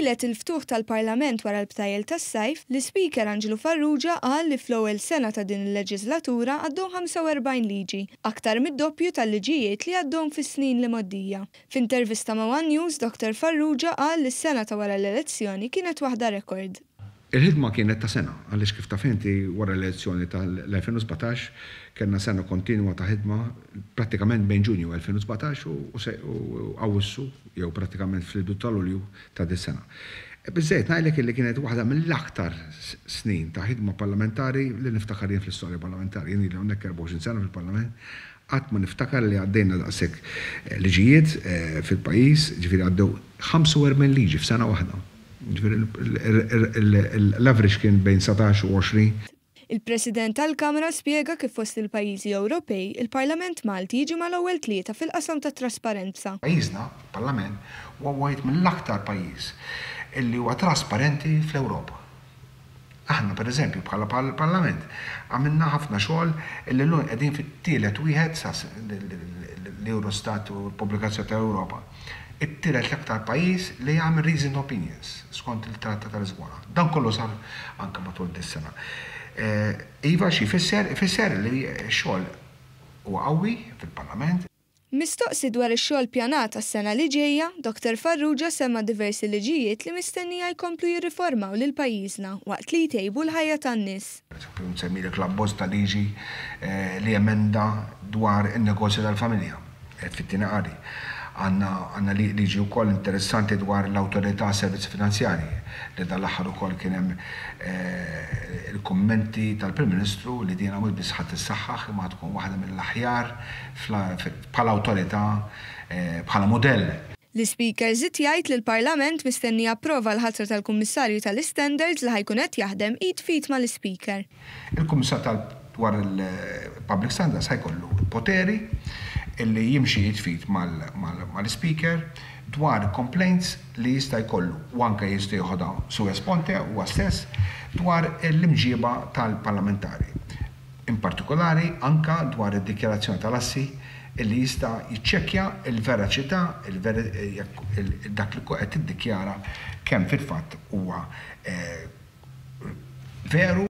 Lejlet il-ftuħ tal-Parlament wara l-btajjel tas-sajf, l-Ispeaker Anġlu Farrugia qal li fl-ewwel sena ta' din il-leġiżlatura għaddew 45 liġi, aktar mid-doppju tal-liġijiet li għaddew fis-snin l-imgħoddija. F'intervista ma' one News, Dottor Farrugia qal li s-sena ta' wara l-elezzjoni kienet waħda rekord. Il-ħidma kienet ta' sena, għaliex kif taf inti wara l-elezzjoni tal-2017 kellna sena kontinwa ta' ħidma prattikament bejn Ġunju 2017 u Awwissu jew prattikament fil-bidu ta' Lulju ta' dis-sena. Biżżejjed ngħidlek illi kienet waħda mill-aktar snin ta' ħidma parlamentari li niftakar jien fl-istorja parlamentari. Jien ili hawnhekk 24 sena fil-Parlament, qatt ma niftakar li għaddejna daqshekk liġijiet fil-pajjiż, ġifieri għaddew 45 liġi f'sena waħda. Ġifieri l-average kien bejn 19 u 20. Il-President tal-Kamra spjega kif fost il-pajjiżi Ewropej, il-Parlament Malti jiġi mal-ewwel tlieta fil-qasam tat-trasparenza. Pajjiżna, il-Parlament, huwa wieħed mill-aktar pajjiż illi huwa trasparenti fl-Ewropa. Aħna, per eżempju, bħala Parlament, għamilna ħafna xogħol illi llum qegħdin fit-tielet wieħed sa l-Eurostat u l-pubblikazzjoni tal-Ewropa, it-tielet l-aktar pajjiż li jagħmel reasoned opinions skont il-Trattat ta' Lisbona. Dan kollu sar anke matul dis-sena. Iva, xi jfisser? Ifisser li x-xogħol huwa qawwi fil-Parlament. Mistoqsi dwar ix-xogħol ppjanat għas-sena li ġejja, Dottor Farrugia semma diversi liġijiet li mistennija jkomplu jirriformaw lil pajjiżna waqt li jtejbu l-ħajja tan-nies. Pereżempju, nsemmilek l-abbozz ta' liġi li emenda dwar in-negozju tal-familja, qed fit-tieni qari. Għandna għandna liġi wkoll interessanti dwar l-Awtorità għas-Servizzi Finanzjarji li dan l-aħħar ukoll kien hemm il-kummenti tal-Prim Ministru li dina mhux biss ħa tissaħħaħ imma ħa tkun waħda mill-aħjar bħala awtorità, bħala mudell. L-Ispeaker żied jgħid li l-Parlament mistenni japprova l-ħatra tal-Kummissarju tal-Istandards li ħa jkun qed jaħdem id f'id mal-Ispeaker. Il-Kummissarju tal dwar il-Public Standards ħa jkollu poteri li jimxi id f'id mal-Ispeaker dwar complaints li jista' jkollu u anke jista' jeħodha sua sponte huwa stess dwar l-imġieba tal-parlamentari. In partikolari anke dwar id-dikjarazzjoni tal-assi illi jista' jiċċekkja l-veraċità, jekk dak li qed tiddikjara kemm fil-fatt huwa veru.